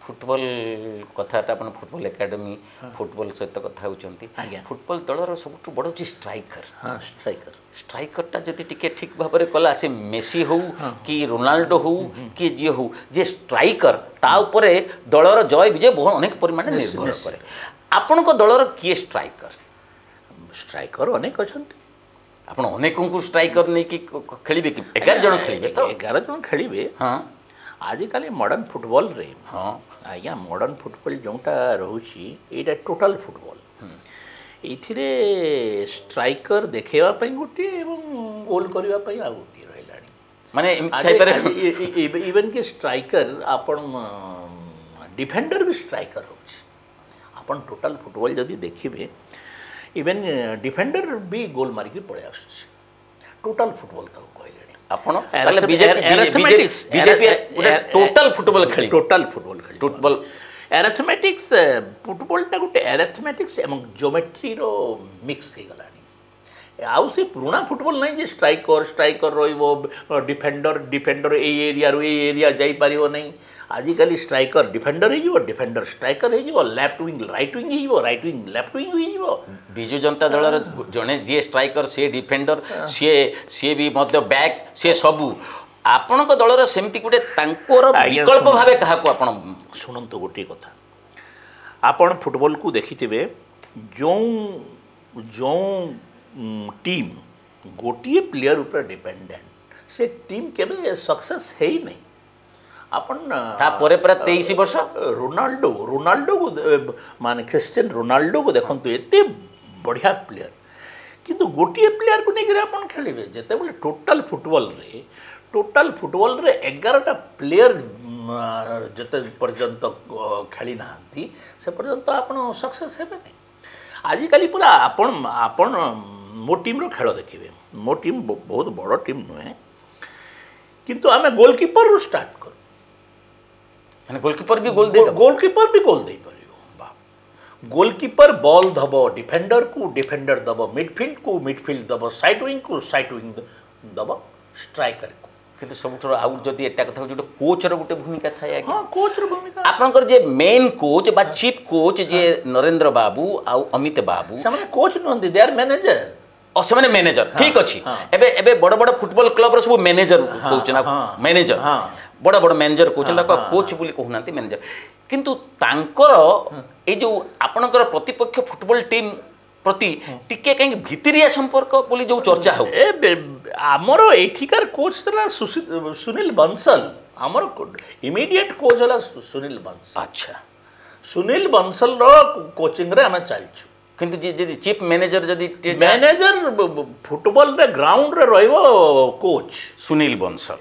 Football କଥାଟା, ଆପଣ football academy, football ସହିତ କଥା ହେଉଛନ୍ତି। ଫୁଟବଲ ଦଳର ସବୁଠୁ ବଡ଼ ହେଉଛି ଷ୍ଟ୍ରାଇକର। ହଁ, ଷ୍ଟ୍ରାଇକର। ଷ୍ଟ୍ରାଇକରଟା ଯଦି ଟିକେ ଠିକ୍ ଭାବରେ କଲା, ସେ ମେସି ହଉ କି ରୋନାଲ୍ଡୋ ହଉ କି ଯିଏ ହଉ, ଯିଏ ଷ୍ଟ୍ରାଇକର ତା ଉପରେ ଦଳର ଜୟ ବିଜୟ ବହୁ ଅନେକ ପରିମାଣରେ ନିର୍ଭର କରେ। ଆପଣଙ୍କ ଦଳର କିଏ ଷ୍ଟ୍ରାଇକର? ଷ୍ଟ୍ରାଇକର ଅନେକ ଅଛନ୍ତି। ଆପଣ ଅନେକଙ୍କୁ ଷ୍ଟ୍ରାଇକର ନେଇକି ଖେଳିବେ କି 11 ଜଣ ଖେଳିବେ ତ? 11 ଜଣ ଖେଳିବେ। ହଁ। ଆଜିକାଲି ମଡ଼ର୍ଣ୍ଣ ଫୁଟବଲରେ, ହଁ ଆଜ୍ଞା, ମଡ଼ର୍ଣ୍ଣ ଫୁଟବଲ ଯେଉଁଟା ରହୁଛି, ଏଇଟା ଟୋଟାଲ ଫୁଟବଲ। ଏଇଥିରେ ଷ୍ଟ୍ରାଇକର ଦେଖେଇବା ପାଇଁ ଗୋଟିଏ ଏବଂ ଗୋଲ୍ କରିବା ପାଇଁ ଆଉ ଗୋଟିଏ ରହିଲାଣି। ମାନେ ଏମିତି ଥାଇପାରେ। ଇଭେନ୍ କି ଷ୍ଟ୍ରାଇକର, ଆପଣ ଡିଫେଣ୍ଡର ବି ଷ୍ଟ୍ରାଇକର ହେଉଛି। ଆପଣ ଟୋଟାଲ ଫୁଟବଲ ଯଦି ଦେଖିବେ, ଇଭେନ୍ ଡିଫେଣ୍ଡର ବି ଗୋଲ୍ ମାରିକି ପଳେଇ ଆସୁଛି। ଟୋଟାଲ ଫୁଟବଲ ତାକୁ କହିଲେଣି। ଆପଣ ତାହେଲେ ବିଜେପି ଗୋଟେ ଟୋଟାଲ ଫୁଟବଲ ଖେଳିବ? ଟୋଟାଲ ଫୁଟବଲ ଖେଳିବ। ଫୁଟବଲ। ଆରାଥମେଟିକ୍ସ, ଫୁଟବଲଟା ଗୋଟେ ଆରାଥମେଟିକ୍ସ ଏବଂ ଜିଓମେଟ୍ରିର ମିକ୍ସ ହେଇଗଲାଣି। ଆଉ ସେ ପୁରୁଣା ଫୁଟବଲ ନାହିଁ ଯେ ଷ୍ଟ୍ରାଇକର ରହିବ, ଡିଫେଣ୍ଡର ଏଇ ଏରିଆରୁ ଏଇ ଏରିଆ ଯାଇପାରିବ ନାହିଁ। ଆଜିକାଲି ଷ୍ଟ୍ରାଇକର ଡିଫେଣ୍ଡର ହେଇଯିବ, ଡିଫେଣ୍ଡର ଷ୍ଟ୍ରାଇକର ହେଇଯିବ, ଲେଫ୍ଟ ୱିଙ୍ଗ ରାଇଟ୍ ୱିଙ୍ଗ ହେଇଯିବ, ରାଇଟ୍ ୱିଙ୍ଗ ଲେଫ୍ଟ ୱିଙ୍ଗ ହେଇଯିବ। ବିଜୁ ଜନତା ଦଳର ଜଣେ ଯିଏ ଷ୍ଟ୍ରାଇକର, ସିଏ ଡିଫେଣ୍ଡର, ସିଏ ବି ମଧ୍ୟ ବ୍ୟାକ୍, ସିଏ ସବୁ। ଆପଣଙ୍କ ଦଳର ସେମିତି ଗୋଟେ ତାଙ୍କର ବିକଳ୍ପ ଭାବେ କାହାକୁ ଆପଣ? ଶୁଣନ୍ତୁ, ଗୋଟିଏ କଥା, ଆପଣ ଫୁଟବଲକୁ ଦେଖିଥିବେ, ଯେଉଁ ଯେଉଁ ଟିମ୍ ଗୋଟିଏ ପ୍ଲେୟର ଉପରେ ଡିପେଣ୍ଡେଣ୍ଟ, ସେ ଟିମ୍ କେବେ ସକ୍ସେସ୍ ହେଇନାହିଁ। ଆପଣ ତାପରେ ପୁରା 23 ବର୍ଷ ରୋନାଲ୍ଡୋକୁ, ମାନେ ଖ୍ରୀଷ୍ଟିଆନ ରୋନାଲ୍ଡୋକୁ ଦେଖନ୍ତୁ, ଏତେ ବଢ଼ିଆ ପ୍ଲେୟର, କିନ୍ତୁ ଗୋଟିଏ ପ୍ଲେୟରକୁ ନେଇକରି ଆପଣ ଖେଳିବେ? ଯେତେବେଳେ ଟୋଟାଲ ଫୁଟବଲରେ 11ଟା ପ୍ଲେୟର ଯେତେ ପର୍ଯ୍ୟନ୍ତ ଖେଳି ନାହାନ୍ତି, ସେ ପର୍ଯ୍ୟନ୍ତ ଆପଣ ସକ୍ସେସ୍ ହେବେନି। ଆଜିକାଲି ପୁରା ଆପଣ ମୋ ଟିମ୍ର ଖେଳ ଦେଖିବେ। ମୋ ଟିମ୍ ବହୁତ ବଡ଼ ଟିମ୍ ନୁହେଁ, କିନ୍ତୁ ଆମେ ଗୋଲକିପରରୁ ଷ୍ଟାର୍ଟ କରୁ। ମାନେ ଗୋଲକିପର ବି ଗୋଲ ଦେଇଦେବ? ଗୋଲକିପର ବି ଗୋଲ ଦେଇପାରିବ। ଗୋଲକିପର ବଲ୍ ଦେବ ଡିଫେଣ୍ଡରକୁ, ଡିଫେଣ୍ଡର ଦେବ ମିଡଫିଲ୍ଡକୁ, ମିଡଫିଲ୍ଡ ଦେବ ସାଇଡ୍ ୱିଙ୍ଗକୁ, ସାଇଡ୍ ୱିଙ୍ଗ ଦେବ ଷ୍ଟ୍ରାଇକରକୁ। କିନ୍ତୁ ସବୁଠାରୁ ଆଉ ଯଦି ଏଟା କଥା ହେଉଛି, ଗୋଟେ କୋଚ୍ର ଗୋଟେ ଭୂମିକା ଥାଏ ଆଜ୍ଞା। ହଁ, କୋଚ୍ର ଭୂମିକା। ଆପଣଙ୍କର ଯେ ମେନ୍ କୋଚ୍ ବା ଚିଫ୍ କୋଚ୍ ଯିଏ ନରେନ୍ଦ୍ର ବାବୁ ଆଉ ଅମିତ ବାବୁ, ସେମାନେ କୋଚ୍ ନୁହନ୍ତି, ଦେ ଆର୍ ମ୍ୟାନେଜର। ଓ, ସେମାନେ ମ୍ୟାନେଜର, ଠିକ ଅଛି। ଏବେ ବଡ଼ ବଡ଼ ଫୁଟବଲ କ୍ଲବର ସବୁ ମ୍ୟାନେଜର କହୁଛନ୍ତି, ମ୍ୟାନେଜର, ବଡ଼ ବଡ଼ ମ୍ୟାନେଜର କହୁଛନ୍ତି ତାକୁ, କୋଚ୍ ବୋଲି କହୁନାହାନ୍ତି, ମ୍ୟାନେଜର। କିନ୍ତୁ ତାଙ୍କର ଏଇ ଯେଉଁ ଆପଣଙ୍କର ପ୍ରତିପକ୍ଷ ଫୁଟବଲ ଟିମ୍ ପ୍ରତି ଟିକେ କାହିଁକି ଭିତିରିଆ ସମ୍ପର୍କ ବୋଲି ଯେଉଁ ଚର୍ଚ୍ଚା ହେଉଛି? ଆମର ଏଠିକାର କୋଚ୍ ଥିଲା ସୁନୀଲ ବଂଶଲ। ଆମର ଇମିଡିଏଟ୍ କୋଚ୍ ହେଲା ସୁନୀଲ ବଂଶଲ। ସୁନୀଲ ବଂଶଲର କୋଚିଂରେ ଆମେ ଚାଲିଛୁ। କିନ୍ତୁ ଯଦି ଚିଫ୍ ମ୍ୟାନେଜର ଯଦି ମ୍ୟାନେଜର, ଫୁଟବଲରେ ଗ୍ରାଉଣ୍ଡରେ ରହିବ କୋଚ୍ ସୁନୀଲ ବଂଶଲ।